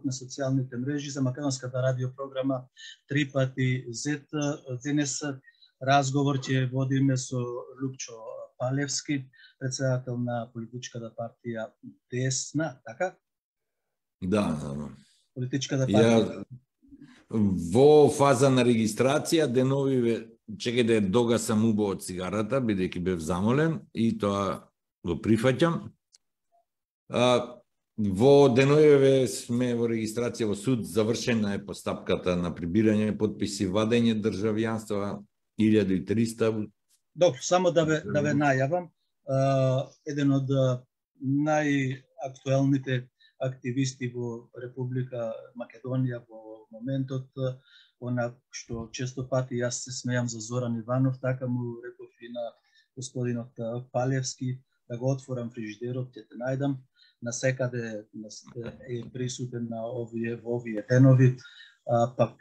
на социјалните мрежи за македонската радиопрограма 3 пати Z. Денес разговор ќе водиме со Лупчо Палевски, председател на политичката партија Десна, така? Да. Политичката партија. Во фаза на регистрација, деновиве, чекајте, догасам убаво од цигарата, бидејќи бев замолен, и тоа го прифаќам. Во деновиве сме во регистрација во суд, завршена е постапката на прибирање подписи, вадење државјанства, 1300. Добро, само да ве најавам, еден од најактуелните активисти во Република Македонија во моментот, она што често пати јас се смејам за Зоран Иванов, така му реков и на господинот Палевски, да го отворам фрижидерот, ќе те најдам, насекаде е присутен во овие денови. Пак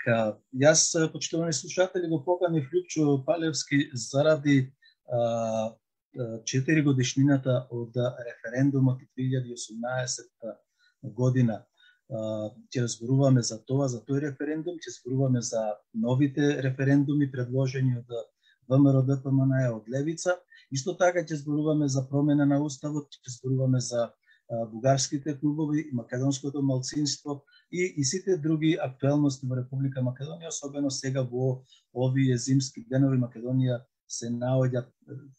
јас, почитувани слушатели, го поканив Лупчо Палевски заради 4 годишнината од референдумот 2018 година. Ќе разборуваме за тоа, за тој референдум, ќе зборуваме за новите референдуми предложени од ВМРО ДПМН од Левица. Исто така ќе зборуваме за промена на уставот, ќе зборуваме за бугарските клубови и македонското малцинство и сите други актуелности во Република Македонија, особено сега во овие зимски денови. Македонија се наоѓа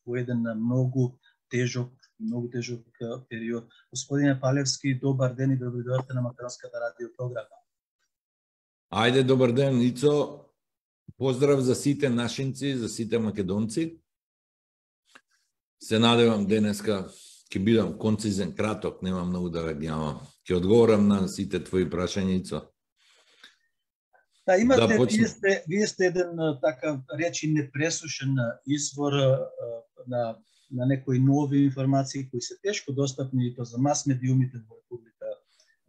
во еден многу тежок период. Господине Палевски, добар ден и добри дојдовте на македонската радиопрограма. Ајде, добар ден, Ицо. Поздрав за сите нашинци, за сите македонци. Се надевам денеска ќе бидам концизен, краток, нема многу да вегнјавам. Ќе одговорам на сите твои прашања, Ицо. Да, имате, вие сте еден така речи непресушен извор на некои нови информации кои се тешко достапни и то за мас медиумите во Република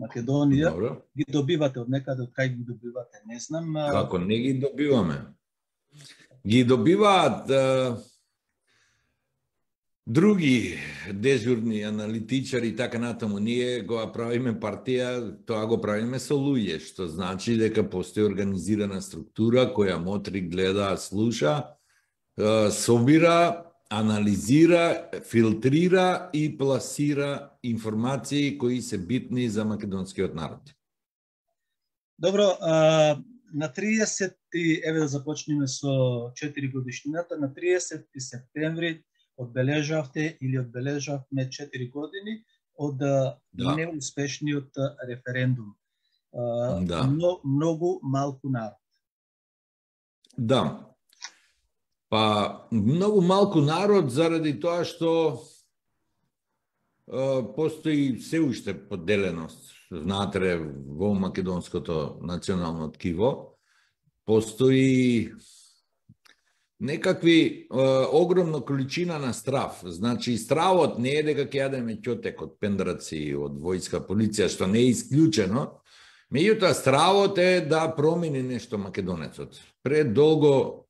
Македонија. Добро. Ги добивате од некаде, од кај ги добивате, не знам. Како не ги добиваме? Ги добиваат други дежурни аналитичари и така натаму. Ние го правиме партија, тоа го правиме со луѓе, што значи дека постои организирана структура која мотри, гледа, слуша, собира, анализира, филтрира и пласира информации кои се битни за македонскиот народ. Добро, на 30, еве да започнеме со 4 годишнината, на 30 септември одбележавме 4 години од неуспешниот референдум. Многу малку народ. Да. Па, многу малку народ заради тоа што постои се уште поделеност внатре во македонското национално ткиво. Постои некакви огромна количина на страв. Значи, стравот не е дека ќе јадеме ќотек од пендраци, од војска, полиција, што не е исклучено. Меѓутоа, стравот е да промени нешто македонецот. Предолго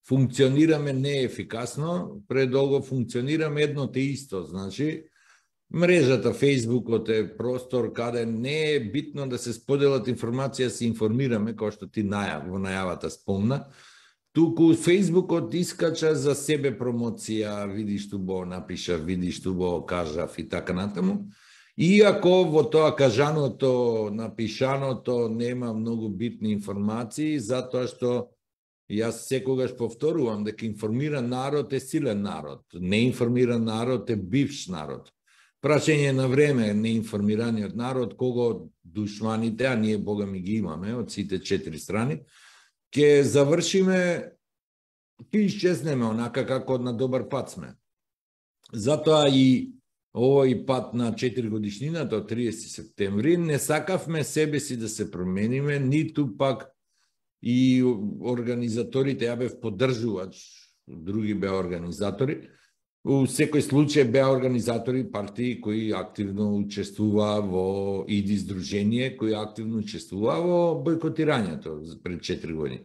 функционираме неефикасно, предолго функционираме едно те исто. Значи, мрежата, Фејсбукот е простор каде не е битно да се споделат информација, се информираме, кој што ти во најавата спомна. Туку Фејсбукот искача за себе промоција, види што бо напишав, види што бо кажав и така натаму. Иако во тоа кажаното, напишаното нема многу битни информации, затоа што јас секогаш повторувам дека информиран народ е силен народ, неинформиран народ е бивш народ. Прашање на време неинформираниот народ, кого душманите, а ние бога ми ги имаме од сите 4 страни, ќе завршиме, ќе исчезнеме онака како на добар пат сме. Затоа и овој пат на 4 годишнината од 30 септември не сакавме себе си да се промениме, ниту пак и организаторите, ја бев поддржувач, други беа организатори. У секој случај беа организатори партии кои активно учествува во ИДИ здружение, кои активно учествува во бойкотирањето пред 4 години.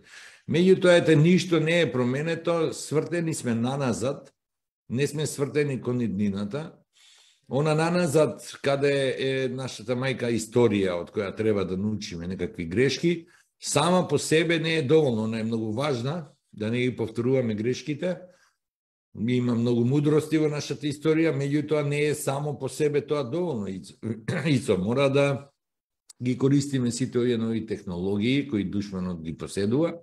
Меѓутоа, ете, ништо не е променето, свртени сме наназад, не сме свртени кон иднината Она наназад, каде е нашата мајка историја, од која треба да научиме некакви грешки, сама по себе не е доволно, она е многу важна, да не ги повторуваме грешките. Има многу мудрости во нашата историја, меѓутоа не е само по себе тоа доволно. Ицо, мора да ги користиме сите овие нови технологии кои душманот ги поседува,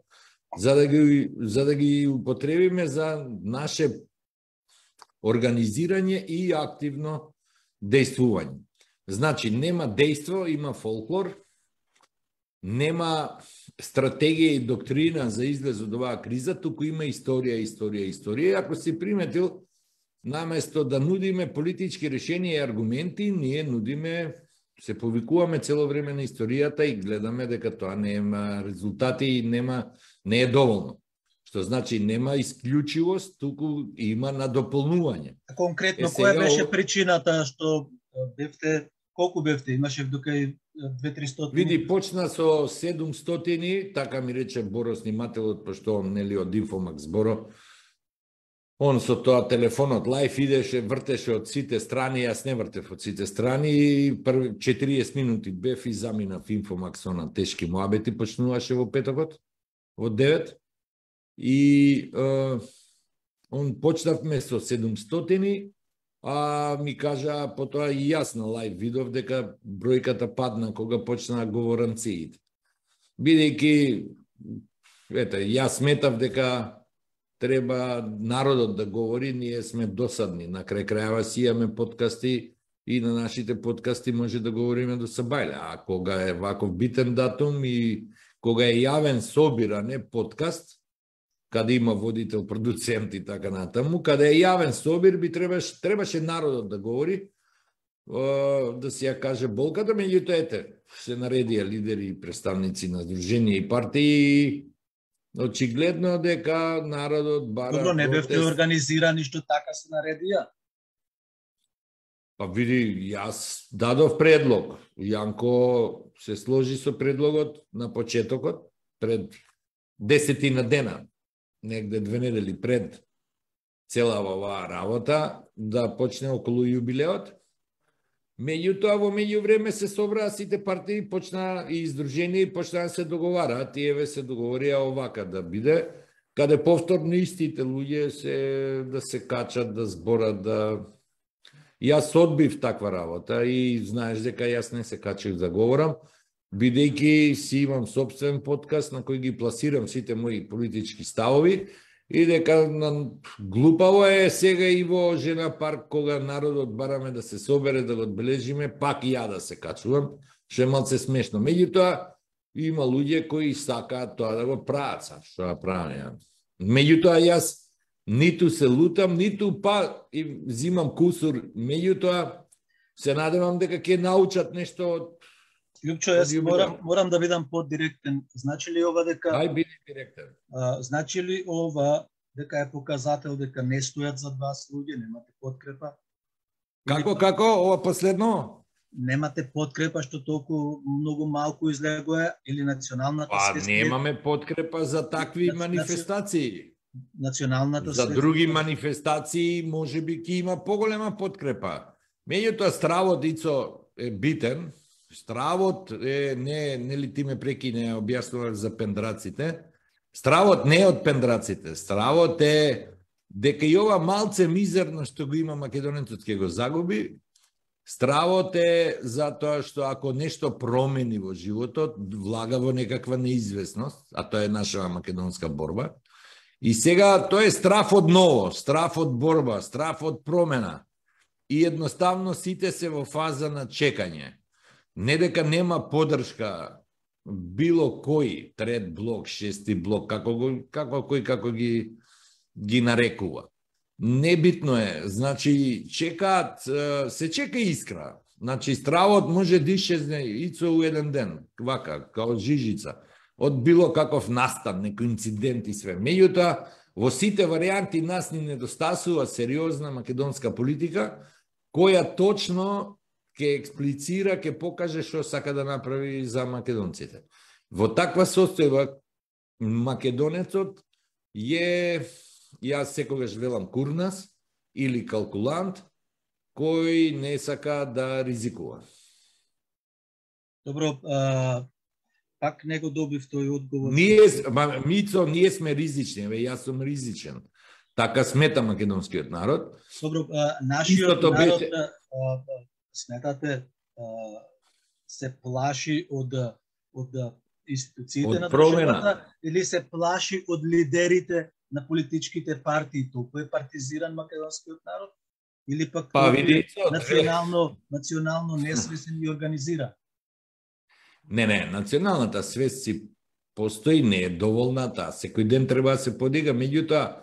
за да ги употребиме за наше организирање и активно дејствување. Значи, нема дејство, има фолклор, нема стратегија и доктрина за излез од оваа криза, туку има историја. Ако си приметил, наместо да нудиме политички решенија и аргументи, ние нудиме, се повикуваме цело време на историјата и гледаме дека тоа нема резултати и не е доволно. Што значи нема исклучивост, туку има надополнување. Конкретно, која беше причината што бевте, колку бевте? Имаше дока и 2-300? Види, почна со 700, така ми рече Боро снимателот, пошто он нели од Инфомакс Боро. Он со тоа телефонот лајф идеше, вртеше од сите страни, јас не вртев од сите страни, и 40 минути бев и заминав Инфомакс, она тешки муабети почнуваше во петокот, во 9. И он почнавме со 700, а ми кажа потоа и јас на лајв видов дека бројката падна кога почнаа говоранциите. Бидејќи, јас сметав дека треба народот да говори, ние сме досадни. На крај крајава си имаме подкасти и на нашите подкасти може да говориме до сабајле. А кога е ваков битен датум и кога е јавен собир, а не подкаст, каде има водител, продуцент и така натаму, каде е јавен собир, требаше народот да говори, да си ја каже болката, меѓутоа се наредија лидери и представници на здруженија и партии. Очигледно дека народот бара... Добро, не бевте организирани што така се наредија? Па види, јас дадов предлог. Јанко се сложи со предлогот на почетокот, пред 10 дена, негде 2 недели пред цела оваа работа, да почне околу јубилеот. Меѓутоа, во меѓувреме се собраа сите партии, почнаа и издружени, почнаа да се договараат, тие се договорија овака да биде, каде повторно истите луѓе да се качат, да зборат, да... Јас одбив таква работа и знаеш дека јас не се качив да говорам, бидејќи си имам собствен подкаст на кој ги пласирам сите мои политички ставови, и дека глупаво е сега и во Жена парк, кога народот бараме да се собере, да го одбележиме, пак и ја да се качувам, што е малце смешно. Меѓутоа, има луѓе кои сакаат тоа да го прават, што да правам. Меѓутоа, јас ниту се лутам, ниту и зимам кусур, меѓутоа, се надевам дека ќе научат нешто од... Лјупчо, јас морам да бидам подиректен. Значи ли ова дека... Ај, биди директен. Значи ли ова дека е показател дека не стојат зад вас луѓе, немате подкрепа? Како, ова последно? Немате подкрепа што толку многу малку излегува, или националната свест? Немаме подкрепа за такви манифестации. Националната за други манифестации можеби ќе има поголема подкрепа. Меѓутоа, стравот, Ицо, е битен. Стравот е, нели ти ме прекине, објаснуваш за пендраците. Стравот не е од пендраците. Стравот е дека и ова малце мизерно што го има македонецот ќе го загуби. Стравот е затоа што ако нешто промени во животот, влага во некаква неизвестност, а тоа е наша македонска борба. И сега тоа е страв од ново, страв од борба, страв од промена. И едноставно сите се во фаза на чекање. Не дека нема подршка било кој, трет блок, шести блок, како ги нарекува. Небитно е, значи чекаат, се чека искра. Значи стравот може да исчезне Ицо у еден ден, вака, као жижица, од било каков настан, некој инцидент и све. Меѓутоа, во сите варијанти нас ни недостасува сериозна македонска политика, која точно ќе експлицира, ќе покаже што сака да направи за македонците. Во таква состојба македонецот е, јас секогаш велам, курнас или калкулант, кој не сака да ризикува. Добро, пак не го добив тој одговор. Мицо, ние сме ризични, јас сум ризичен. Така смета македонскиот народ. Добро, нашиот народ, сметате, се плаши од институциите на државата или се плаши од лидерите на политичките партии? Толку е партизиран македонскиот народ? Или пак национално несвесен и организиран? Не, националната свест си постои, не е доволна, секој ден треба да се подига, меѓутоа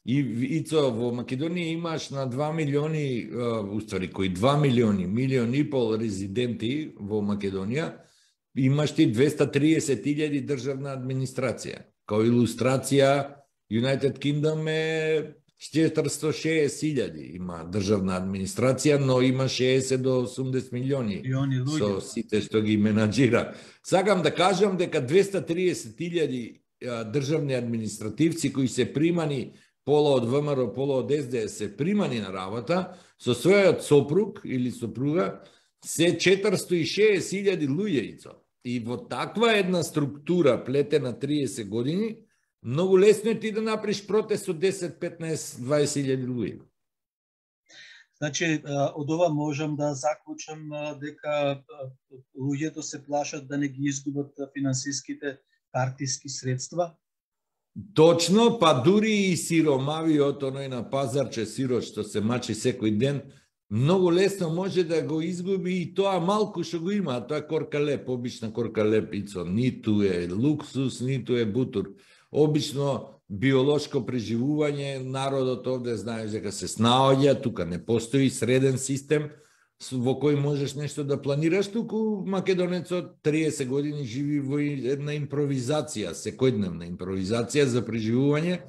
Ицо, во Македонија имаш на 2 милиони, уствари, кои 2 милиони, милион и пол резиденти во Македонија, имаш ти 230.000 државна администрација. Као илустрација, United Kingdom е 460.000 има државна администрација, но има 60 до 80 милиони со сите што ги менаџира. Сакам да кажам дека 230.000 државни административци кои се примани пола од ВМРО, пола од СДС се примани на работа, со својот сопруг или сопруга, се 460.000 луѓе. И во таква една структура, плетена 30 години, многу лесно е ти да направиш протест од 10, 15, 20.000 луѓе. Значи, од ова можам да заклучам дека луѓето се плашат да не ги изгубат финансиските партиски средства. Точно, па дури и сиромавиот, оној на пазарче сирот што се мачи секој ден, многу лесно може да го изгуби и тоа малку што го има, а тоа е корка леп, обична корка леп, Ицо, ниту е луксус, ниту е бутур. Обично биолошко преживување, народот овде знаеш дека се снаоѓа, тука не постои среден систем во кој можеш нешто да планираш, туку македонецот 30 години живи во една импровизација, секојдневна импровизација за преживување.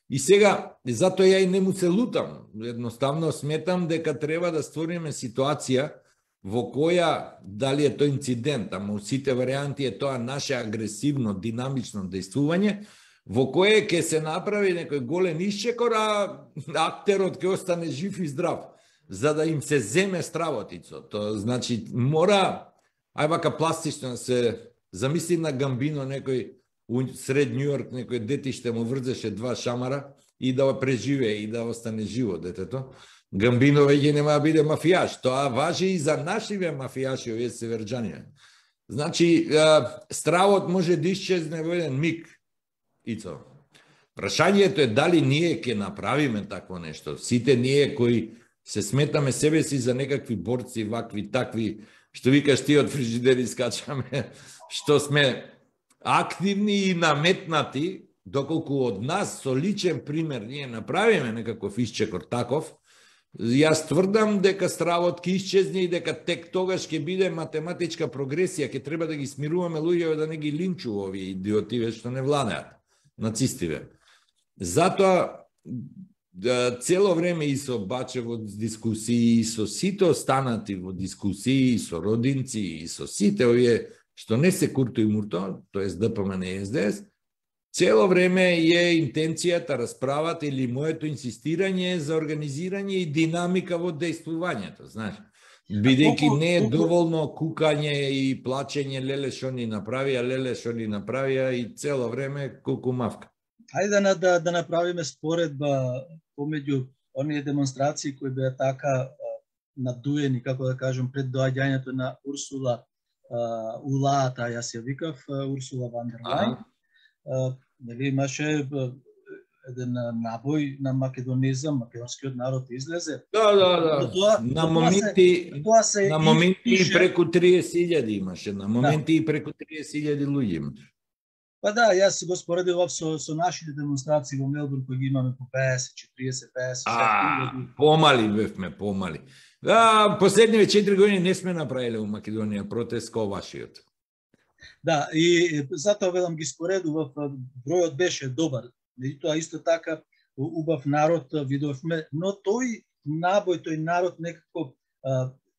И сега, затоа ја и не му се лутам, едноставно сметам дека треба да створиме ситуација во која, дали е тој инцидент, ама у сите варианти е тоа наше агресивно, динамично действување, во кое ќе се направи некој голем исчекор, а актерот ќе остане жив и здрав, за да им се земе стравотицо. Тоа значи, мора, ај вака пластично се замисли на Гамбино, некој сред Њу Йорк, некој детиште му врзеше 2 шамара и да преживее и да остане живо детето. Гамбино веќе нема да биде мафијаш. Тоа важи и за нашиве мафијаши, овие северџани. Значи, стравот може да исчезне во еден миг. Ицо. Прашањето е дали ние ќе направиме такво нешто. Сите ние кои се сметаме себе си за некакви борци, вакви, такви, што викаш ти од фрижидери скачаме, што сме активни и наметнати, доколку од нас со личен пример ние направиме некаков исчекор таков, јас тврдам дека стравот ќе исчезне и дека тек тогаш ќе биде математичка прогресија, ќе треба да ги смируваме луѓето да не ги линчува овие идиотиве што не владеат, нацистиве. Затоа цело време и со Бачево дискусии, и со сите останати во дискусии, и со родинци, и со сите овие што не се Курто и Мурто, тоест ДПМН и СДС, цело време е интенцијата, расправата или моето инсистирање за организирање и динамика во дејствувањето, знаеш. Бидејќи не е доволно кукање и плачење, леле што ни направија, леле што ни направија и цело време кукумавка. Ајде да направиме споредба помеѓу оние демонстрации кои беа така надуени, како да кажем, пред доаѓањето на Урсула Улаата, јас ја викав, Урсула ван дер Лајн. Нели имаше еден набој на македонизам, македонскиот народ излезе. Да. На моменти и преку 30.000 имаше, на моменти и преку 30.000 луѓе имаше. Па да, јас го споредував со нашите демонстрации во Мелбурн, кои ги имаме по 50, 40, 50. Помали бевме, помали. Последниве 4 години не сме направиле во Македонија протест кој вашиот. Да, и затоа велам ги споредував, бројот беше добар. Меѓутоа исто така убав народ видовме, но тој набој, тој народ некако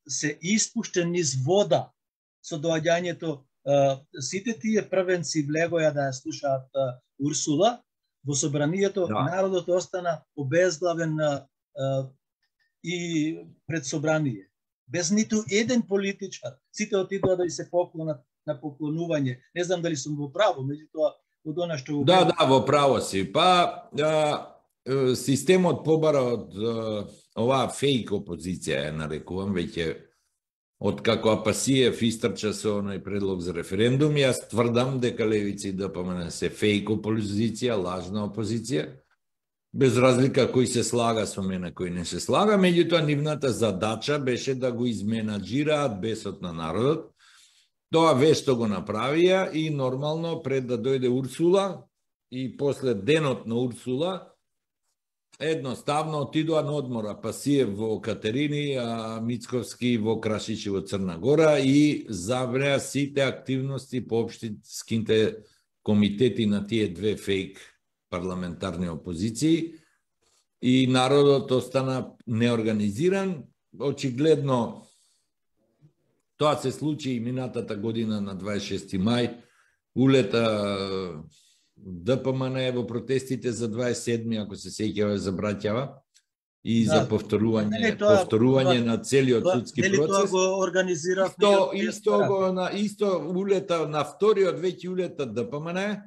се испуштен низ вода со доаѓањето. Сите тие првенци влегоја да ја слушаат Урсула, во собранието народот остана обезглавен, и пред собрание. Без ниту еден политичар. Сите отидоа да се поклонат на поклонување. Не знам дали сум во право, меѓутоа од она што го Да, во право си. Па системот побара од оваа фейк опозиција, ја нарекувам, веќе од како Апасиев истрча со оној предлог за референдум, јас тврдам дека левици и ДПМН се фейк опозиција, лажна опозиција, без разлика кој се слага со мене, кој не се слага, меѓутоа нивната задача беше да го изменаџираат бесот на народот. Тоа вешто го направија и нормално пред да дојде Урсула и после денот на Урсула едноставно отидоа на одмор, Апасиев во Катерини, а Мицковски во Крашич и во Црна Гора и забреа сите активности по општинските комитети на тие две фейк парламентарни опозиции и народот остана неорганизиран. Очигледно тоа се случи и минатата година на 26 мај, улета ДПМН во протестите за 27, ако се сеќава, забраќава и за повторување на целиот судски процес. Дали тоа го организира Исто улета на вториот веќе улета ДПМН,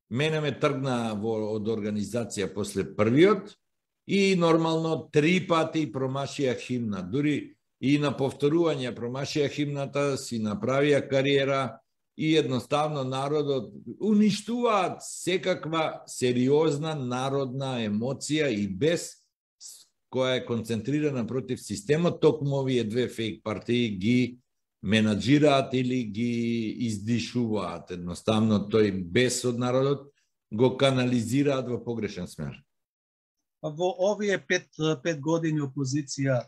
мене ме тргна од организација после првиот и нормално 3 пати промашија химна. Дури и на повторување промашија химната, си направија кариера и едноставно народот уништуваат секаква сериозна народна емоција и бес која е концентрирана против системот, токму овие две фейк партии ги менаџираат или ги издишуваат. Едноставно тој бес од народот го канализираат во погрешен смер. Во овие 5 години опозиција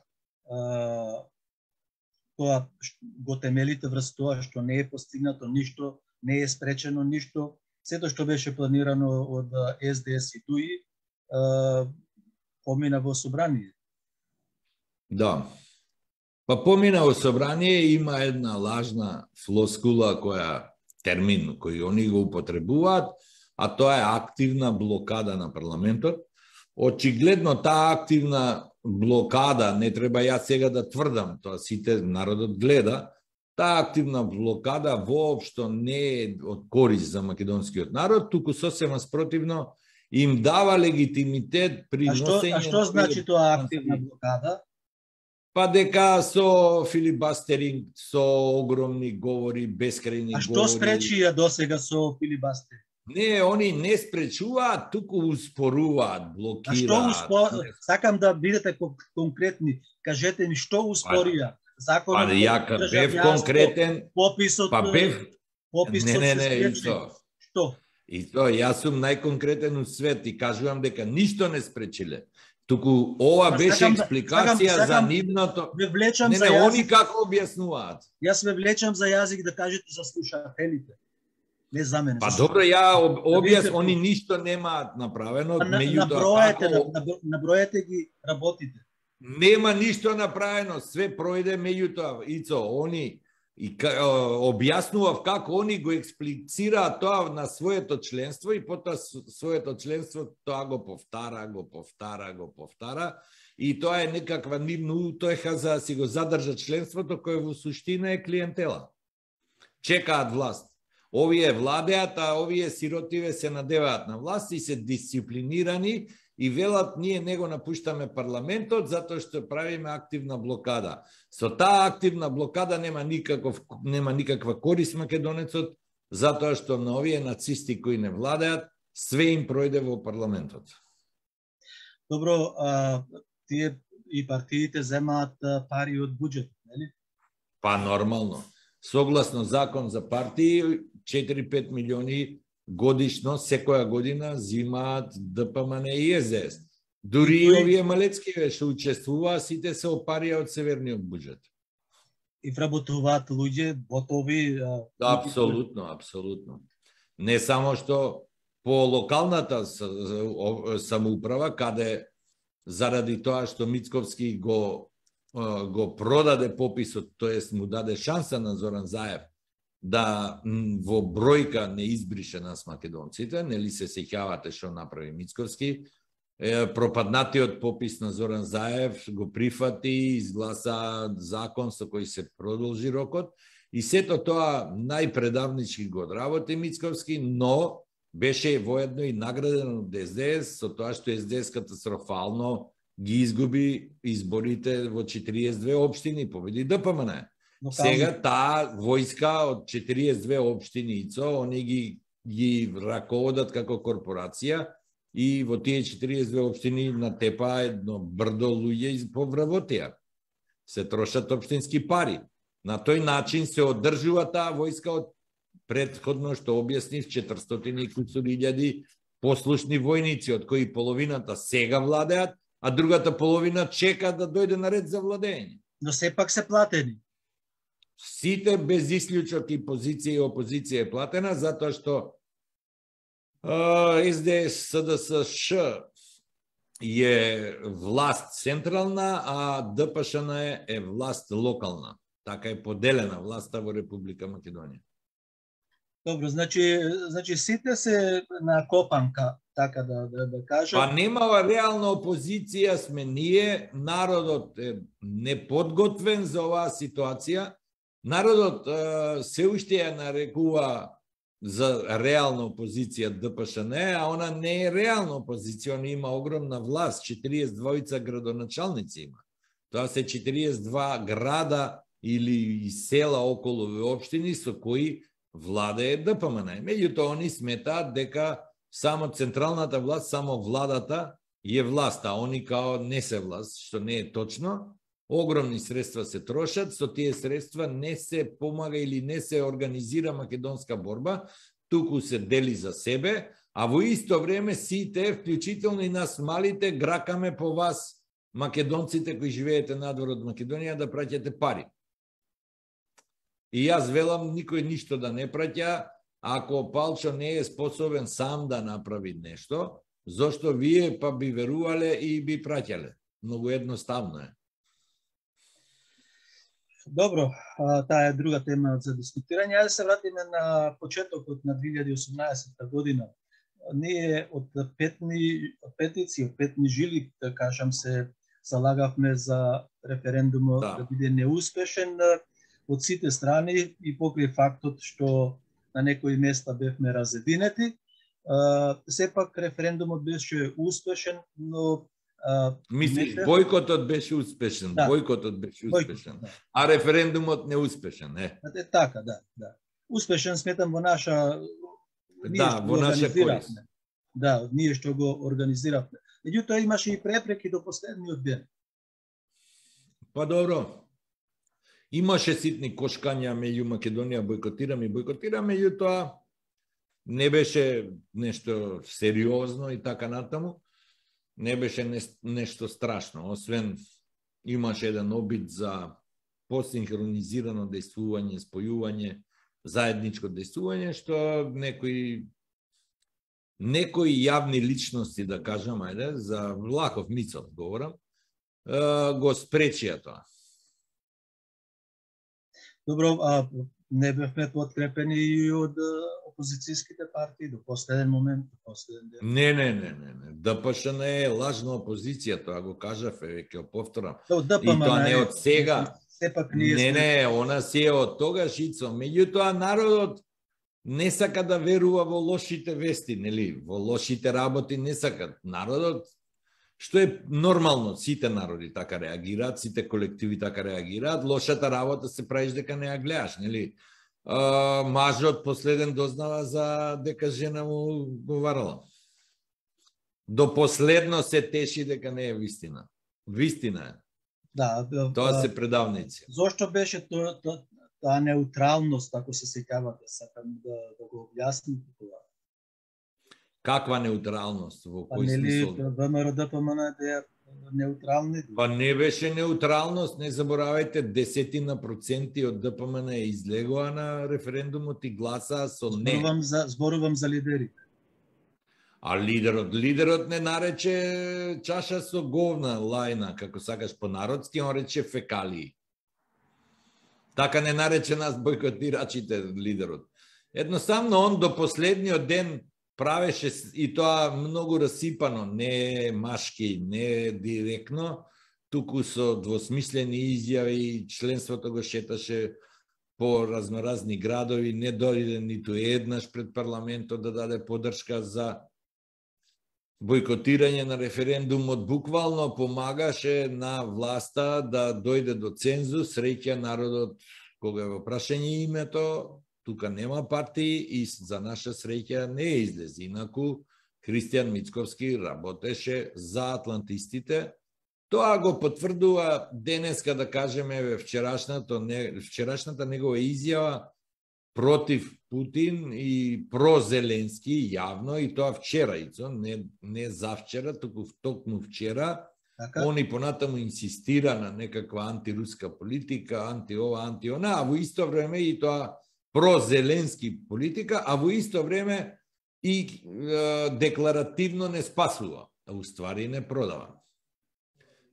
тоа го темелите врз тоа што не е постигнато ништо, не е спречено ништо, сето што беше планирано од СДС и ДУИ помина во собрание. Да. Па помина во собрание, има една лажна флоскула термин кој они го употребуваат, а тоа е активна блокада на парламентот. Очигледно таа активна блокада, не треба ја сега да тврдам, тоа сите народот гледа, таа активна блокада воопшто не е од корист за македонскиот народ, туку сосема спротивно им дава легитимитет при носење... А што значи тоа активна блокада? Па дека со филибастеринг, со огромни говори, бескрајни говори... А што спречија досега со филибастеринг? Не, они не спречуваат, туку успоруваат, блокираат. Сакам да бидете конкретни. Кажете ми што успорија? Законот бев конкретен. Пописот. Не, Што? И тоа, јас сум најконкретен од свет и кажувам дека ништо не спречиле. Туку ова беше експликација за нивното... Не, они како објаснуваат. Јас ве влечам за јазик да кажете за слушателите. Не за мене. Па добро, ја они ништо немаат направено. Наброете ги работите. Нема ништо направено, све пројде меѓутоа. Ицо, они и објаснував како они го експлицираат тоа на своето членство и потоа своето членство тоа го повтара и тоа е некаква нивна утеха за да си го задржат членството кој во суштина е клиентела. Чекаат власт. Овие владеат, а овие сиротиве се надеваат на власт и се дисциплинирани и велат ние не го напуштаме парламентот затоа што правиме активна блокада. Со таа активна блокада нема никаква корист македонецот, затоа што на овие нацисти кои не владеат, све им пројде во парламентот. Добро, тие и партиите земаат пари од буџет, нели? Па нормално. Согласно закон за партии, 4-5 милиони годишно, секоја година, зимаат ДПМН и СДС. Дури и овие малецки што учествуваа, сите се опарија од северниот буџет. И вработуваат луѓе, ботови... Апсолутно. Не само што по локалната самоуправа, каде заради тоа што Мицковски го продаде пописот, тоест му даде шанса на Зоран Заев да во бројка не избрише нас македонците, нели се сеќавате што направи Мицковски, пропаднатиот попис на Зоран Заев го прифати, изгласа закон со кој се продолжи рокот и сето тоа најпредавнички го одработи Мицковски, но беше воедно и награден од СДС со тоа што СДС катастрофално ги изгуби изборите во 42 општини, победи ДПМН. Сега таа војска од 42 општини ИЦО, они ги раководат како корпорација и во тие 42 општини натепа едно брдо луѓе повработија. Се трошат општински пари. На тој начин се одржува таа војска од претходно што објаснив 400.000 послушни војници, од кои половината сега владеат, а другата половина чека да дојде на ред за владење. Но сепак се платени. Сите без исклучок и позиција и опозиција е платена, затоа што СДС, СДСШ е власт централна, а ДПШН е власт локална. Така е поделена власта во Република Македонија. Добро, значи сите се на копанка, така да кажам. Па немава реална опозиција, сме ние, народот е неподготвен за оваа ситуација. Народот се уште ја нарекува за реална опозиција ДПШН, а она не е реална опозиција, она има огромна власт, 42 градоначалници има. Тоа се 42 града или села околу општини со кои владее ДПМН. Меѓутоа, они сметаат дека само централната власт, само владата е власт, а они као не се власт, што не е точно. Огромни средства се трошат, со тие средства не се помага или не се организира македонска борба, туку се дели за себе, а во исто време сите, вклучително и нас малите, гракаме по вас, македонците кои живеете надвор од Македонија, да праќате пари. И јас велам, никој ништо да не праќа, ако Палчо не е способен сам да направи нешто, зошто вие па би верувале и би праќале. Многу едноставно е. Добро, таа е друга тема за дискутирање. Ајде се вратиме на почетокот на 2018 година. Ние од петици, од петни жили, да кажам, се залагавме за референдумот да биде неуспешен од сите страни и покрај фактот што на некои места бевме разединети. Сепак референдумот беше успешен, но мислиш, бојкотот беше успешен, да. Бојкотот беше успешен, да. А референдумот неуспешен, е? Така, да. Успешен сметам во наша... Да, во наша корист. Да, ние што го организиравме. Меѓутоа имаше и препреки до последниот ден. Па добро. Имаше ситни кошкања меѓу Македонија, бојкотираме, меѓутоа не беше нешто сериозно и така натаму. Не беше нешто страшно, освен имаше еден обид за посинхронизирано дејствување, спојување, заедничко дејствување, што некои јавни личности, да кажам, ајде, за Влахов Мицов говорам, го спречија тоа. Добро, а не бевме подкрепени и од опозицијските партии до последен момент, до последен ден? Не. ДПШН е лажна опозиција, тоа го кажав, ќе го повторам. И тоа не од сега. Сепак не, она си е од тогаш ицо. Меѓутоа народот не сака да верува во лошите вести, нели? Во лошите работи не сака. Народот, што е нормално, сите народи така реагираат, сите колективи така реагираат, лошата работа се правиш дека не ја гледаш, нели? Мажот последен дознава за дека жена му говорила. До последно се теши дека не е вистина. Вистина е. Да, тоа се предавници. Зошто беше таа неутралност, ако се сеќавате, сакам да го објасним тоа. Каква неутралност? Во кој смисол? ВМРО ДПМН е неутрални? Па не беше неутралност, не заборавајте, 10% од ДПМН излегоа на референдумот и гласаа со не. Зборувам за лидерите. А лидерот не нарече чаша со говна лајна, како сакаш по народски, он рече фекалии. Така не нарече нас бојкотирачите лидерот. Едноставно он до последниот ден правеше и тоа многу расипано, не машки, не директно, туку со двосмислени изјави, членството го шеташе по разноразни градови, не дојде ниту еднаш пред парламентот да даде поддршка за бојкотирање на референдумот, буквално помагаше на власта да дојде до цензус, среќа народот кога е во прашање името, тука нема партии и за наша среќа не излези. Инаку Христијан Мицковски работеше за атлантистите. Тоа го потврдува денеска, да кажеме, вчерашната негова изјава против Путин и прозеленски јавно, и тоа вчера, не завчера, туку токму вчера. Они понатаму инсистира на некаква антируска политика, анти-ова, анти-она, а во исто време и тоа прозеленски политика, а во исто време и декларативно не спасува, а уствари не продава.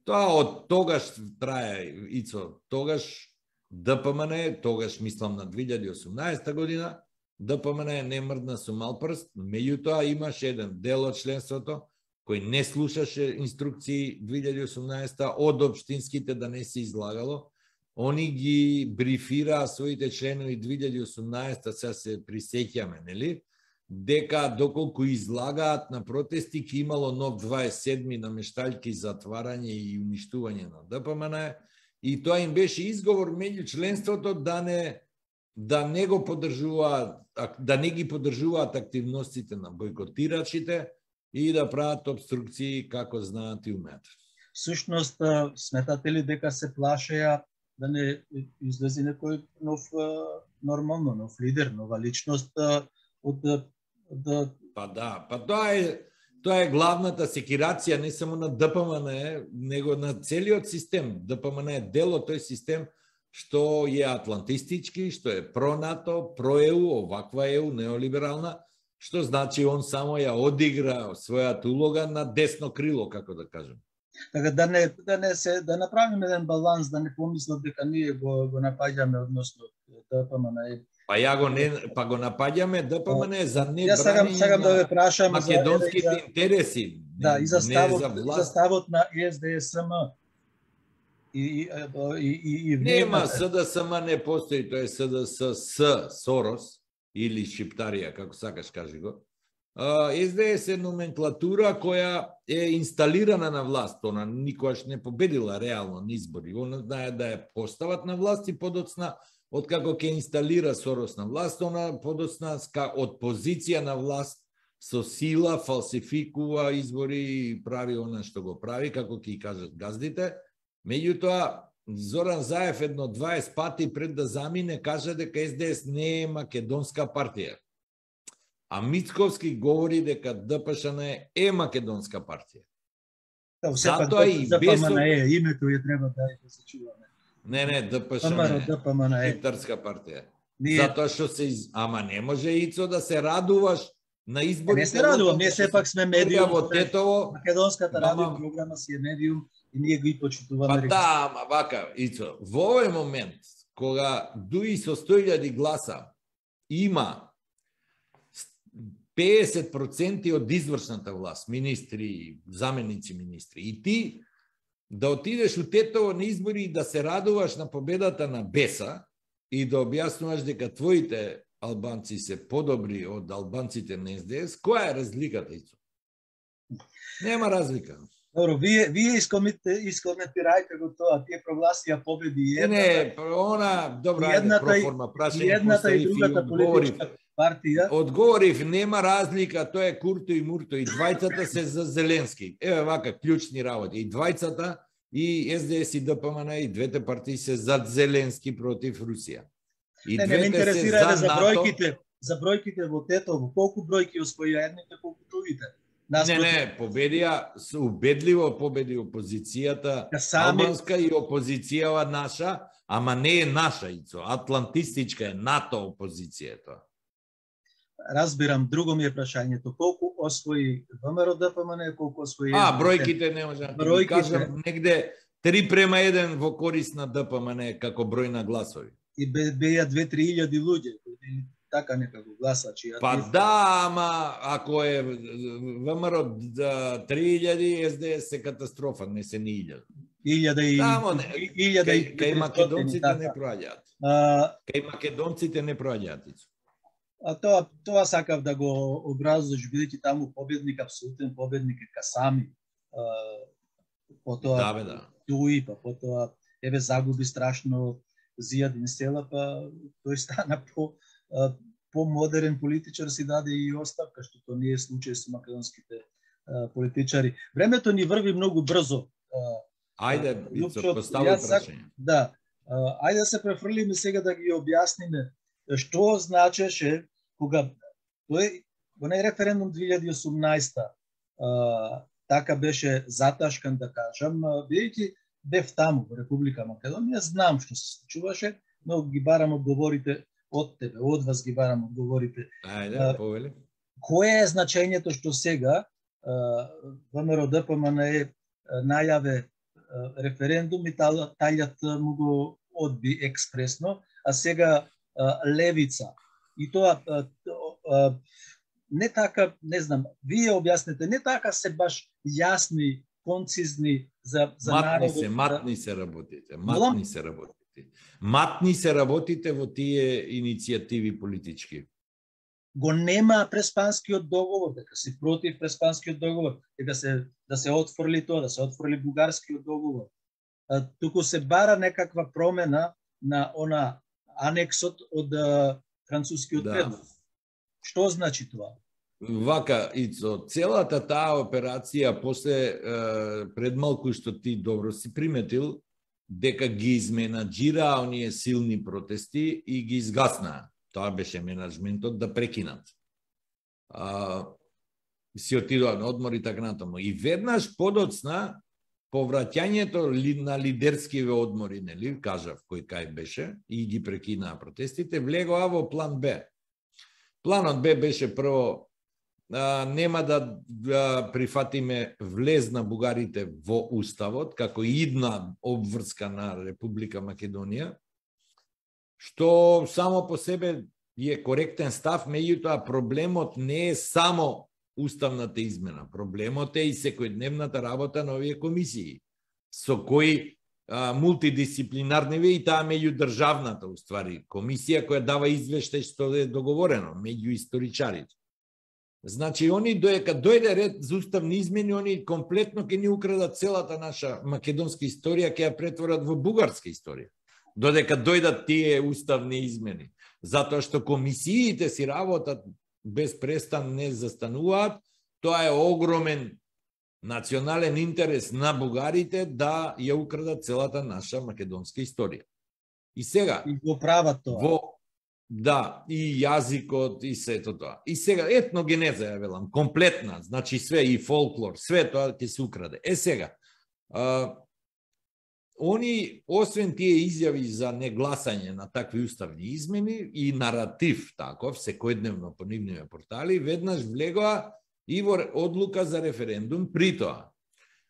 Тоа од тогаш трае, Ицо, тогаш ДПМН, тогаш мислам на 2018 година, ДПМН не мрдна со мал прст, меѓутоа имаше еден дел од членството кој не слушаше инструкции 2018 од општинските да не се излагало. Они ги брифираа своите членови 2018, сега се присеќаме, нели? Дека доколку излагаат на протести, ки имало нов 27 намештаljки за затварање и уништување на ДПМН, и тоа им беше изговор меѓу членството да не го поддржуваат, да не ги поддржуваат активностите на бојкотирачите и да прават обструкции како знаат и умеат. Всушност, сметате ли дека се плашеа да не излезе некој нов лидер, нова личност од Тоа е главната секирација не само на ДПМН, него на целиот систем. ДПМН е дел од тој систем што е атлантистички, што е про-НАТО, про-ЕУ, оваква ЕУ, неолиберална, што значи он само ја одигра својата улога на десно крило, како да кажем. Така да направиме еден баланс, да не помислат дека ние го напаѓаме односно ДПМН. Па го напаѓаме ДПМН за сакам да ве прашам македонските интереси. Да, и за ставот на СДСМ. Нема СДСМ, не постои, тоа е СДС Сорос или Шиптарија, како сакаш кажи го. СДС е номенклатура која е инсталирана на власт, она никогаш не победила реално на избори. Она знае да ја постават на власт и подоцна откако ќе инсталира Сорос на власт, она подоцна од позиција на власт со сила фалсификува избори и прави она што го прави, како ќе кажат газдите. Меѓутоа, Зоран Заев едно 20 пати пред да замине кажа дека СДС не е македонска партија. А Мицковски говори дека ДПШН е македонска партија. Затоа и без името ја треба да се чуваме. Не, ДПШН е шиптарска партија. Затоа што ама не може, Ицо, да се радуваш на изборите. Не се радувам, ние сепак сме медиум. Во Тетово, македонската радио програма си е медиум и ние ги почитуваме. Па да, ама вака, Ицо, во овој момент, кога дуи со 100.000 гласа има 50% од извршната власт, министри, заменици министри, и ти да отидеш у Тетово на избори и да се радуваш на победата на Беса и да објаснуваш дека твоите албанци се подобри од албанците на СДС, која е разликата, Ицо? Нема разлика. Добро, вие искоментирајте го тоа, тие прогласија победи едната. Не, она, добра, проформа, прашање, едната и другата политичка партија. Одговорив, нема разлика, тоа е Курто и Мурто, и двајцата се за Зеленски. Еве вака, клучни работи. И двајцата, и СДС и ДПМН, и двете партии се за Зеленски против Русија. И не ме интересира за бројките во Тетово, колку бројки освоија едните, колку другите. Не, победија, убедливо победи опозицијата албанска и опозицијава наша, ама не е наша, Ицо, атлантистичка е, НАТО опозиција тоа. Разбирам, друго ми е прашањето, колку освои ВМРО ДПМН, колку освои... бројките не може да ти кажам, негде 3:1 во корис на ДПМН како број на гласови. И беја 2-3 илјади луѓе. така некако гласачи. Па да, ама ако е ВМРО 3000, СДС е катастрофа, не се ни 1000. 1000 кај македонците не проаѓаат. Кај македонците не проаѓаат. А тоа сакав да го образуваш, бидејќи таму победник, апсолутен победник е Касами. Потоа Туи, па потоа еве загуби страшно Зијадин Села, па тој стана по-модерен политичар, си даде и оставка, што тоа не е случај со македонските политичари. Времето ни врви многу брзо. Ајде, постави прашање. Да, ајде да се префрлиме сега да ги објасниме што значеше кога тој онај референдум 2018 така беше заташкан, да кажам, бидејќи бев таму во Република Македонија, знам што се случуваше, но ги барам одговорите од тебе, од вас ги барам одговорите. Ајде, повели. Кое е значењето што сега ВМРО ДПМНЕ најаве референдум и Тајјат му го одби експресно, а сега левица. И тоа не така, не знам, вие објаснете, не така се баш јасни, концизни за народот. Матни се работите. Матни се работите во тие иницијативи политички. Го нема Преспанскиот договор, дека си против Преспанскиот договор, дека да се отфрли тоа, да се отфрли Бугарскиот договор. Туку се бара некаква промена на она анексот од францускиот предлог. Што значи тоа? Вака, Ицо, целата таа операција после предмалку што ти добро си приметил, дека ги изменаџира оние силни протести и ги изгаснаа. Тоа беше менеджментот да прекинат. Си отидоа на одмор и така натаму. И веднаш подоцна повраќањето на лидерскиве одмори, нели, кажав кој кај беше, и ги прекинаа протестите, влегоа во план Б. Планот Б беше прво нема да прифатиме влез на бугарите во уставот како идна обврска на Република Македонија, што само по себе е коректен став, меѓутоа проблемот не е само уставната измена, проблемот е и секојдневната работа на овие комисии, со кои мултидисциплинарни и таа меѓудржавната уствари комисија која дава извештај што е договорено меѓу историчарите. Значи, они доека дојде ред за уставни измени, они комплетно ќе ни украдат целата наша македонска историја, ќе ја претворат во бугарска историја. Додека дојдат тие уставни измени. Затоа што комисиите си работат без престан не застануваат, тоа е огромен национален интерес на бугарите да ја украдат целата наша македонска историја. И сега... И го прават тоа. Да, и јазикот, и сето тоа. И сега, етногенеза ја велам, комплетна, значи све, и фолклор, све тоа ќе се украде. Сега, они, освен тие изјави за негласање на такви уставни измени и наратив таков, секојдневно по нивните портали, веднаш влегоа и во одлука за референдум. При тоа,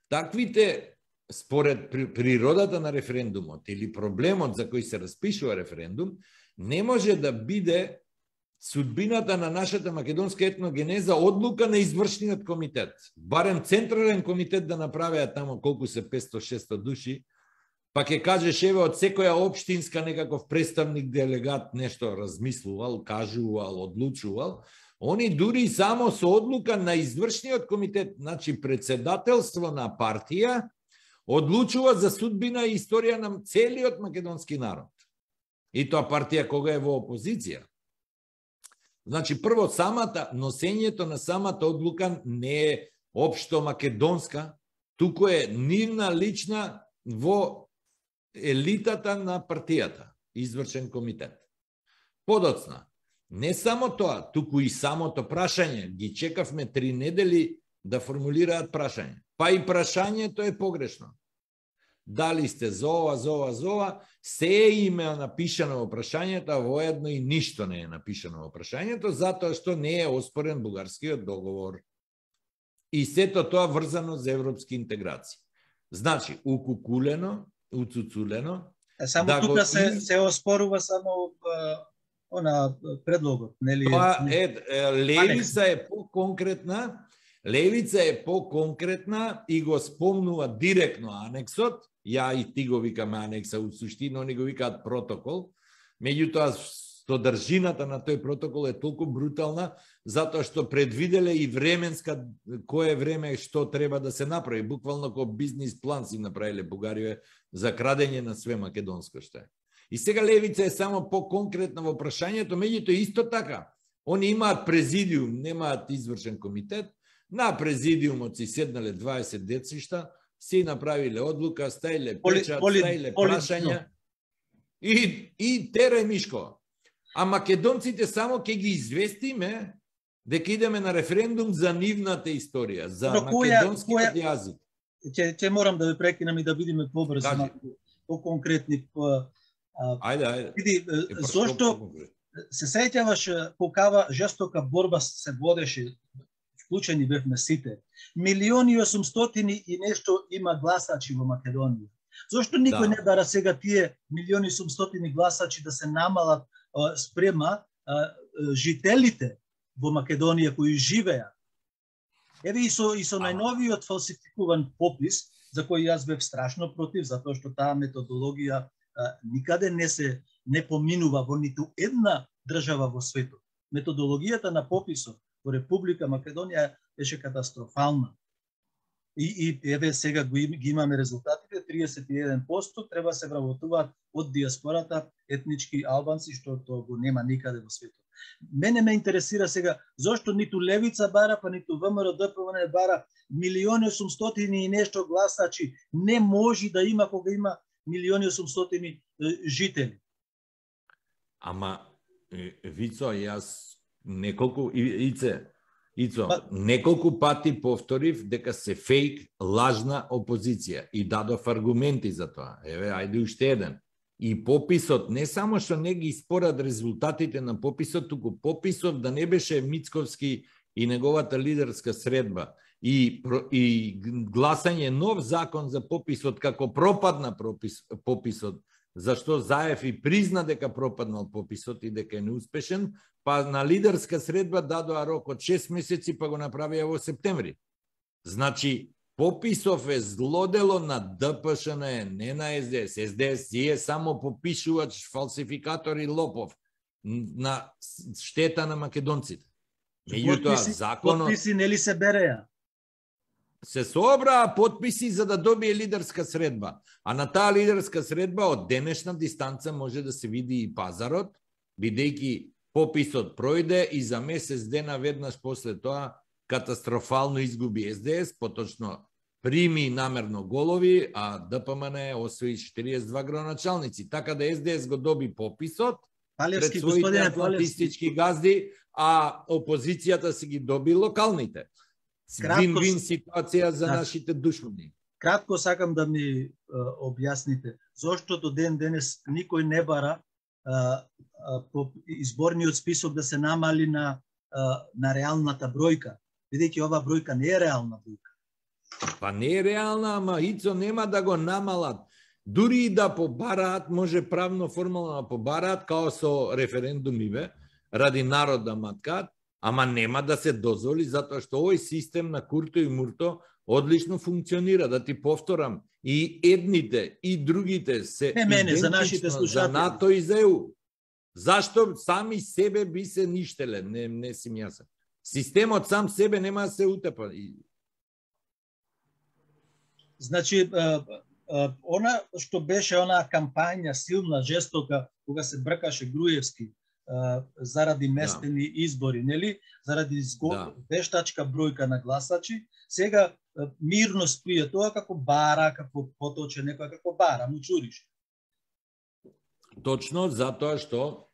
таквите, според природата на референдумот или проблемот за кој се распишува референдум, не може да биде судбината на нашата македонска етногенеза одлука на извршниот комитет. Барем централен комитет да направеа тамо колку се 500-600 души, па ќе кажеш еве од секоја општинска некаков представник делегат нешто размислувал, кажувал, одлучувал. Они дури само со одлука на извршниот комитет, значи председателство на партија, одлучува за судбина и историја на целиот македонски народ. И тоа партија кога е во опозиција. Значи, прво, носењето на самата одлука не е општо македонска, туку е нивна лична во елитата на партијата, извршен комитет. Подоцна, не само тоа, туку и самото прашање, ги чекавме 3 недели да формулираат прашање. Па и прашањето е погрешно. Дали сте за ова, се им е напишано во прашањето, а воедно и ништо не е напишано во прашањето, затоа што не е оспорен бугарскиот договор. И сето тоа врзано за европски интеграција. Значи, укукулено, уцуцулено. Само тука се оспорува само Она предлогот, нели? Тоа Левица е поконкретна. Левица е поконкретна и го спомнува директно анексот. Ја и ти го викаме анекса, у суштина они го викаат протокол. Меѓутоа, содржината на тој протокол е толку брутална, затоа што предвиделе и временска, кое време што треба да се направи. Буквално како бизнис план си направиле Бугарија за крадење на све македонско што е. И сега Левица е само поконкретна во прашањето, меѓутоа исто така. Они имаат президиум, немаат извршен комитет. На президиумот си седнале 20 децишта, си направиле одлука, стаиле печат, стаиле прашања и терај Мишко. А македонците само ќе ги известиме дека идеме на референдум за нивната историја, за македонскиот јазик. Ќе морам да ве прекинам и да бидеме побрзо, по-конкретни. Ајде. Види, зошто се сеќаваш колкава жестока борба се водеше, вклучени бевме сите. 1.800.000 и нешто има гласачи во Македонија. Зошто никој не бара сега тие 1.800.000 гласачи да се намалат спрема жителите во Македонија кои живеат? Еве и со најновиот фалсификуван попис, за кој јас бев страшно против, затоа што таа методологија никаде не поминува во ниту една држава во светот. Методологијата на пописот во Република Македонија беше катастрофална. И еве сега ги имаме резултатите, 31% треба се вработуваат од диаспората етнички албанци, што тоа го нема никаде во светот. Мене ме интересира сега зошто ниту Левица бара, па ниту ВМРО ДПМН бара 1.800.000 и нешто гласачи. Не може да има кога има 1.800.000 жители. Ама, Вицо, јас неколку пати повторив дека се фейк, лажна опозиција и дадов аргументи за тоа. Еве, ајде уште еден. И пописот, не само што не ги според резултатите на пописот, туку пописот да не беше Мицковски и неговата лидерска средба и гласање нов закон за пописот како пропадна пописот, зашто Заев и призна дека пропаднал пописот и дека е неуспешен, па на лидерска средба дадоа рок од 6 месеци, па го направија во септември. Значи, пописов е злодело на ДПШН, не на СДС. СДС си е само попишувач, фалсификатор и лопов на штета на македонците. Меѓутоа, законот... Подписи нели се береа? Се собраа подписи за да добие лидерска средба. А на таа лидерска средба од денешна дистанца може да се види и пазарот, бидејќи пописот пројде и за месец дена веднаш после тоа катастрофално изгуби СДС, поточно прими намерно голови, а ДПМН освои 42 градоначалници. Така да СДС го доби пописот пред своите атлантистички газди, а опозицијата си ги доби локалните. Вин-вин ситуација за нашите душмани. Кратко сакам да ми објасните зошто до ден денес никој не бара по изборниот список да се намали на реалната бројка, бидејќи оваа бројка не е реална бројка. Па не е реална, ама Ицо нема да го намалат. Дури и да побараат, може правно формално да побараат, као со референдумиве, ради народ да маткаат, ама нема да се дозволи, затоа што овој систем на Курто и Мурто одлично функционира. Да ти повторам, и едните, и другите се за нашите слушатели, за НАТО и за ЕУ. Зашто сами себе би се ништеле? Не си јасен. Системот сам себе нема да се утепа. Значи, она што беше онаа кампања силна, жестока, кога се бркаше Груевски заради местени избори, нели? Заради вештачка бројка на гласачи, сега мирно стои тоа како бара, како поточе некоја како бара, му чуриш. Точно, затоа што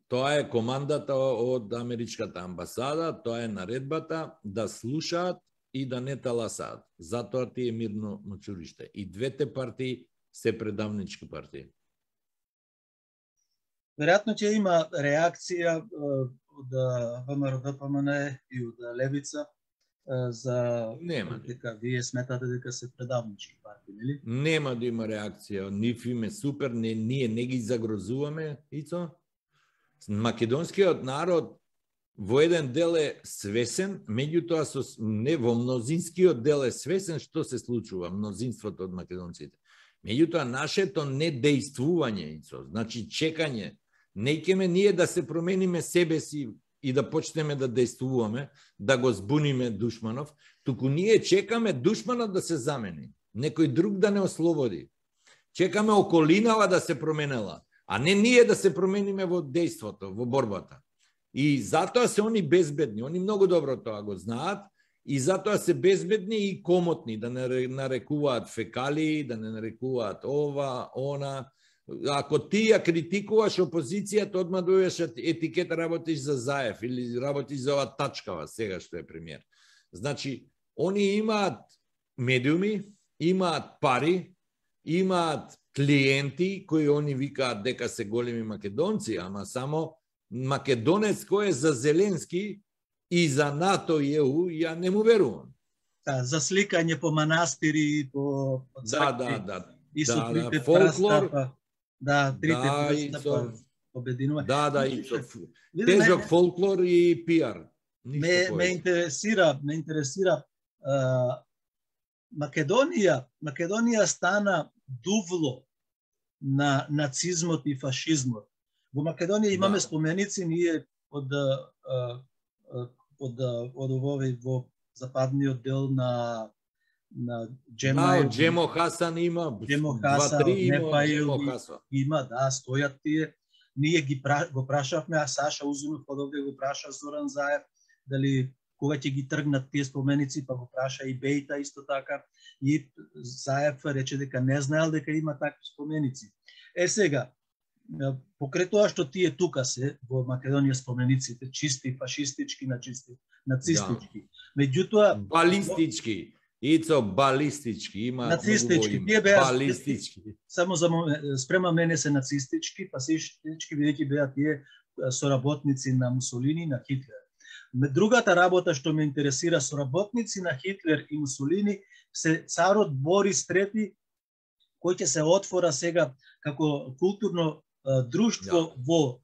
тоа е командата од Америчката амбасада, тоа е наредбата да слушаат и да не таласаат. Затоа ти е мирно мочуриште. И двете партии се предавнички партии. Веројатно ќе има реакција од ВМРО ДПМН и од Левица за дека вие сметате дека се предавнички партии, нели? Нема да има реакција, нив им е супер, ние не ги загрозуваме, Ицо. Македонскиот народ во еден дел е свесен, меѓутоа не во мнозинскиот дел е свесен што се случува, мнозинството од македонците. Меѓутоа нашето недејствување, значи чекање, не ќеме ние да се промениме себе си и да почнеме да дејствуваме, да го збуниме душманов, туку ние чекаме душманот да се замени, некој друг да не ослободи. Чекаме околинава да се променела, а не ние да се промениме во дејството, во борбата. И затоа се они безбедни, они многу добро тоа го знаат, и затоа се безбедни и комотни, да не нарекуваат фекалии, да не нарекуваат ова, она. Ако ти ја критикуваш опозицијата, одма дојдеш етикета работиш за Заев или работиш за ова Тачкава, сега што е премиер. Значи, они имаат медиуми, имаат пари, имаат клиенти кои они викаат дека се големи македонци, ама само македонец кој е за Зеленски и за НАТО и ЕУ, ја не му верувам. Да, за сликање по манастири, по цркви. И со трите фолклор. Да, трите прстапа обединува. Да, и тежок фолклор и пиар. Ме интересира Македонија стана дувло на нацизмот и фашизмот. Во Македонија имаме споменици ние од овој во западниот дел на Джема. Джемо Хасан има, Джемо Хасан, има, да, стојат тие. Ние го прашавме, а Саша Узунов подовде го праша Зоран Заев, дали кога ќе ги тргнат тие споменици, па го праша и Бејта исто така. И Заев рече дека не знаел дека има такви споменици. Сега, покрај тоа што тие тука се во Македонија спомениците, чисти фашистички, нацистички. Меѓутоа балистички. Ицо балистички, има нацистички, тие беа балистички. Само за спрема мене се нацистички, фашистички, бидејќи беа тие соработници на Мусолини, на Хитлер. Другата работа што ме интересира, соработници на Хитлер и Мусолини се царот Борис III, кој ќе се отвора сега како културно друштво во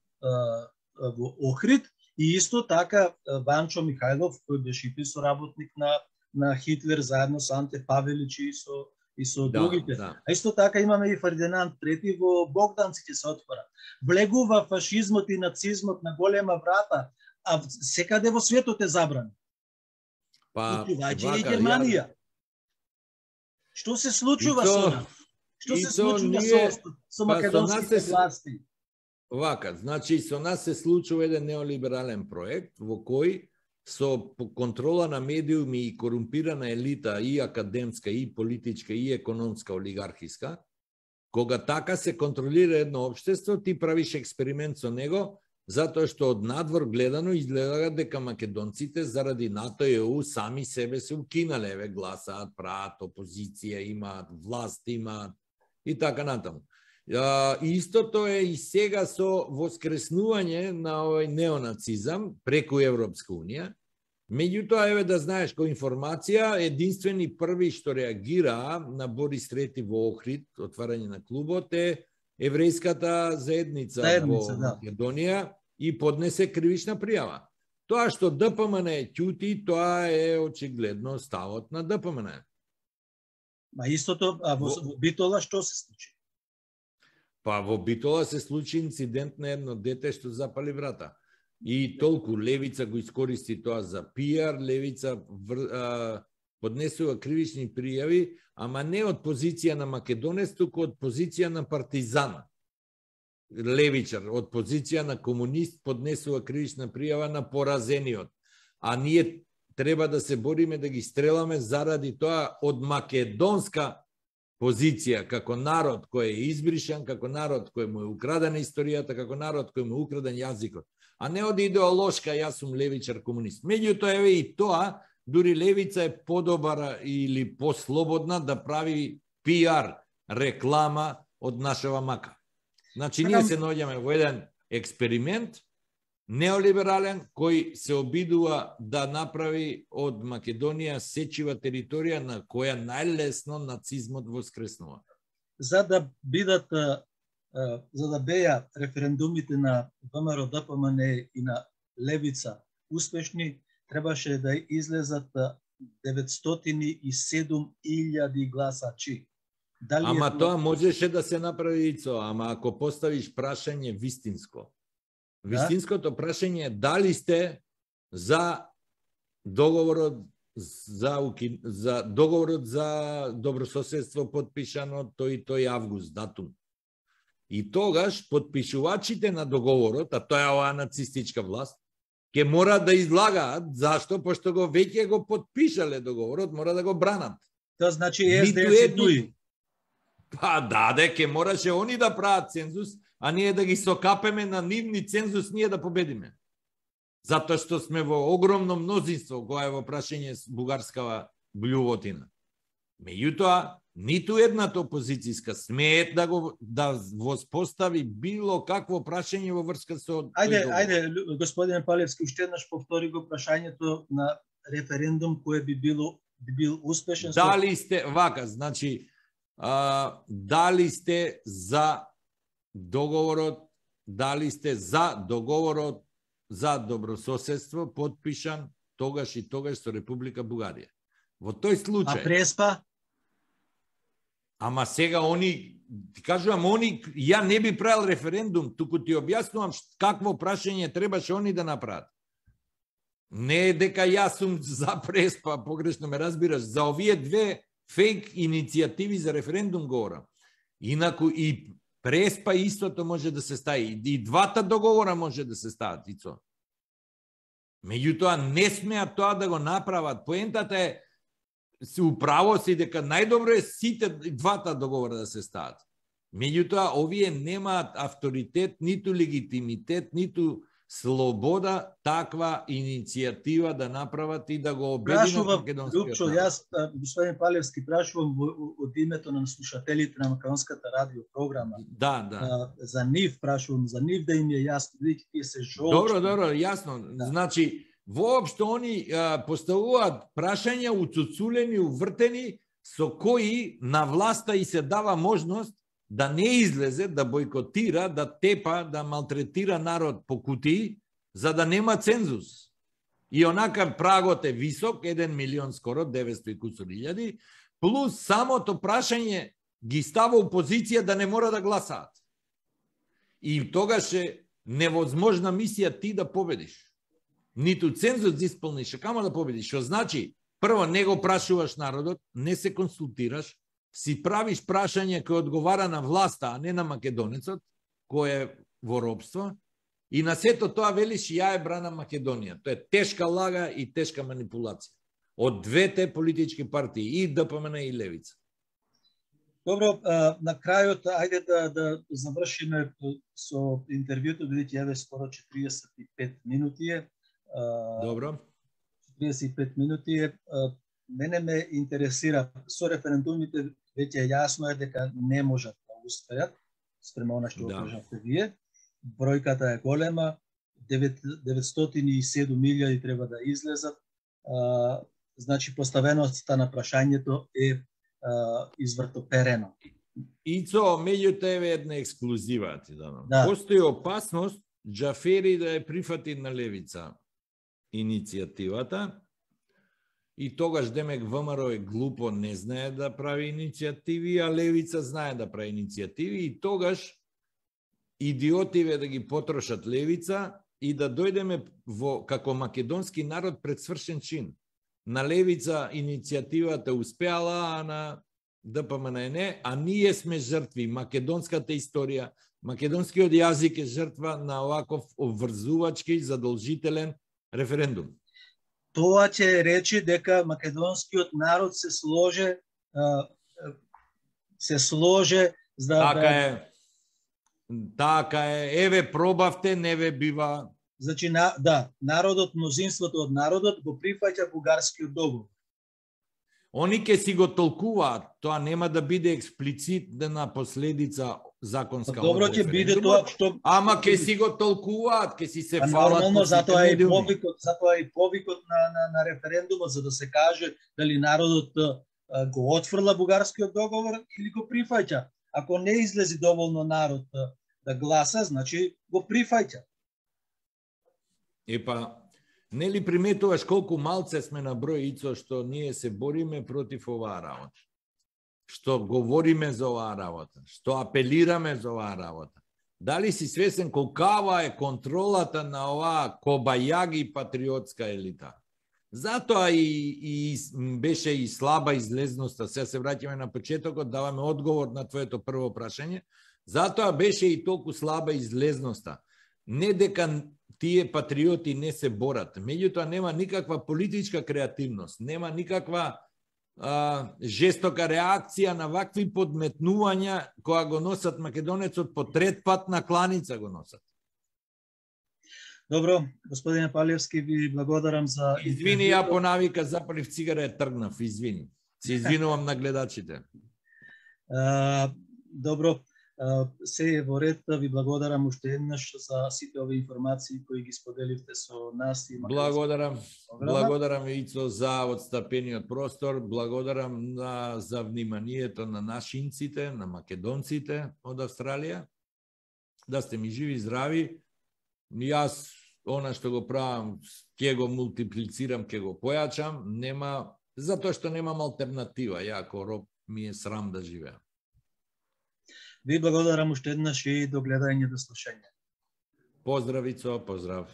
Охрид, и исто така Ванчо Михајлов, кој беше и соработник на Хитлер заедно со Анте Павелич и со другите. Да. А исто така имаме и Фердинанд III во Богданци ќе се отвора. Влегува фашизмот и нацизмот на голема врата, а секаде во светот е забран. Уклучувајќи и Германија. Што се случува со нас? Што се случува со македонските власти? Вака, значи со нас се случува еден неолиберален проект во кој со контрола на медиуми и корумпирана елита и академска, и политичка, и економска, олигархиска, кога така се контролира едно општество, ти правиш експеримент со него, затоа што од надвор гледано изгледа дека македонците заради НАТО и ЕУ сами себе се укинале, гласаат, прават опозиција, имаат власт, имаат и така натаму. Истото е и сега со воскреснување на овој неонацизам преку Европска унија. Меѓутоа, еве да знаеш, кој информација, единствени први што реагира на Борис III во Охрид, отварање на клубот, е еврејската заедница во Македонија и поднесе кривична пријава. Тоа што ДПМН ќути, тоа е очигледно ставот на ДПМН. Истото, а во Битола што се случи? Во Битола се случи инцидент на едно дете што запали врата. И толку левица го искористи тоа за пиар, левица поднесува кривични пријави, ама не од позиција на македонец, туку од позиција на партизан. Левичар, од позиција на комунист поднесува кривична пријава на поразениот. А ние треба да се бориме да ги стреламе заради тоа од македонска позиција, како народ кој е избришан, како народ кој му е украдена историјата, како народ кој му е украден јазикот. А не од идеолошка, јас сум левичар комунист. Меѓутоа, еве и тоа, дури левица е подобара или послободна да прави пиар, реклама од нашава мака. Значи, ние се наоѓаме во еден експеримент, неолиберален, кој се обидува да направи од Македонија сечива територија на која најлесно нацизмот воскреснува. За да бидат за да беа референдумите на ВМРО, ДПМН и на Левица успешни, требаше да излезат 907.000 гласачи. Дали ама тоа можеше да се направи, Ицо, ама ако поставиш прашање вистинско. Вистинското прашање е дали сте за договорот за добрососедство подпишано тој август датум. И тогаш подпишувачите на договорот, а тоа е оваа нацистичка власт, ќе мора да излагаат зашто, пошто го веќе го подпишале договорот, мора да го бранат. Тоа значи СДС дуи. Па даде, ќе мораше они да прават цензус, а ние да ги сокапеме на нивни цензус, ние да победиме. Затоа што сме во огромно мнозинство, кога е во прашање бугарскава блювотина. Меѓутоа, ниту едната опозицијска смеет да воспостави било какво прашање во врска со... Ајде, господин Палевски, уште еднаш повтори го прашањето на референдум кој би бил успешен. Дали сте, вака, значи, дали сте за договорот, за добрососедство подпишан тогаш и тогаш со Република Бугарија. Во тој случај... А Преспа? Ама сега они, ти кажувам, ја не би правил референдум, туку ти објаснувам какво прашање требаше они да направат. Не е дека јас сум за Преспа, погрешно ме разбираш, за овие две фейк иницијативи за референдум говорам. Инаку и Преспа истото може да се стави. И двата договора може да се стават, Ицо. Меѓутоа, не смеат тоа да го направат. Поентата е, управо си дека најдобро е сите двата договора да се стават. Меѓутоа, овие немаат авторитет, ниту легитимитет, ниту слобода таква иницијатива да направат и да го обединат македонскиот народ. Јас, господин Палевски, прашувам од името на слушателите на македонската радио програма. Да. За нив прашувам, за нив да им е јасно, бидејќи тие се жолчни. Добро, јасно. Да. Значи, воопшто они поставуваат прашања уцуцулени, увртени, со кои на власта и се дава можност да не излезе, да бойкотира, да тепа, да малтретира народ по кутии, за да нема цензус. И онака прагот е висок, 1 милион скоро, 900 и кусур илјади, плюс самото прашање ги става у позиција да не мора да гласаат. И тогаш е невозможна мисија ти да победиш. Ниту цензус да исполниш, а камо да победиш. Што значи, прво не го прашуваш народот, не се консултираш, си правиш прашање кој одговара на власта, а не на македонецот, кој е во робство, и на сето тоа велиш ја е брана Македонија. Тоа е тешка лага и тешка манипулација. Од двете политички партии, и ДПМН и Левица. Добро, на крајот, ајде да завршиме со интервјуто, бидејќи еве скоро 45 минути е. Добро. 35 минути е. Мене ме интересира, со референдумите веќе јасно е дека не можат да успеат, спрема она што го кажавте вие. Бројката е голема, 907.000 треба да излезат. Значи, поставеноста на прашањето е извртоперено. Ицо, меѓутоа еве една ексклузива ти дадам. Да. Постои опасност Џафери да ја прифати на Левица иницијативата, и тогаш демек ВМРО е глупо, не знае да прави иницијативи, а Левица знае да прави иницијативи, и тогаш идиотиве да ги потрошат Левица и да дојдеме како македонски народ пред свршен чин. На Левица иницијативата успеала, а на ДПМН не, а ние сме жртви. Македонската историја, македонскиот јазик е жртва на оваков обврзувачки, задолжителен референдум. Тоа ќе речи дека македонскиот народ се сложе за Така е, еве пробавте, не ве бива. Значи, народот, мнозинството од народот го прифаќа бугарскиот договор. Они ќе си го толкуваат, тоа нема да биде експлицитна последица законска. Добро ќе биде тоа што... Ама ќе си го толкуваат, ќе си се фалат. Нормално, затоа и повикот на референдумот, за да се каже дали народот го отфрла бугарскиот договор или го прифаќа. ако не излези доволно народ да гласа, значи го прифаќа. Епа, нели приметуваш колку малце сме на број, Ицо, што ние се бориме против оваа работа? Што говориме за оваа работа? Што апелираме за оваа работа? Дали си свесен колкава е контролата на оваа кобајаги патриотска елита? Затоа и беше и слаба излезноста. Сега се враќаме на почетокот, даваме одговор на твоето прво прашање. Затоа беше и толку слаба излезноста. Не дека тие патриоти не се борат, меѓутоа нема никаква политичка креативност, нема никаква жестока реакција на вакви подметнувања која го носат македонецот по трет пат на кланица го носат. Добро, господине Палевски, ви благодарам за... Извини, ја по навика запалив цигара и тргнав, извини. Се извинувам на гледачите. Добро, се е во ред, ви благодарам уште еднаш за сите овие информации кои ги споделивте со нас. И благодарам Ицо за отстапениот простор, благодарам за вниманието на нашинците, на македонците од Австралија. Да сте ми живи и здрави. Јас, она што го правам, ќе го мултиплицирам, ќе го појачам, затоа што немам алтернатива. Ја, ако роб, ми е срам да живеам. Ви благодарам уште еднаш и до гледање, до слушање. Поздрав, Ицо, поздрав.